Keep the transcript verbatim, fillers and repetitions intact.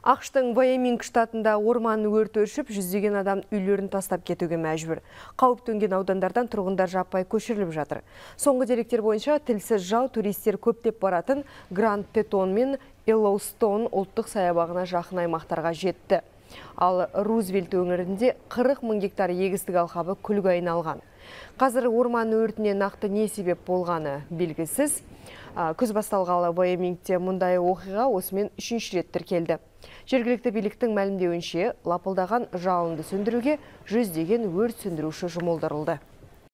ақштың Вайоминг штатында орман өрті өршіп, жүздеген адам үйлерін тастап кетуге мәжбүр. Қауіп төнген аудандардан тұрғындар жаппай көшіріліп жатыр. Соңғы деректер бойынша тілсіз жау туристер көптеп баратын Гранд Тетон мен Йеллоустон ұлттық саябағына жақын аймақтарға жетті. Ал Рузвельт өңірінде қырық мың гектар егістік алқабы күлге айналған. Қазір орман өртіне нақты не себеп болғаны белгісіз. Күз басталғалы Вайомингте мұндай оқиға осымен үшінші рет тіркелді. Жергілікті биліктің мәлімдеуінше, лапылдаған жалынды сөндіруге жүздеген өрт сөндіруші жұмылдырылды.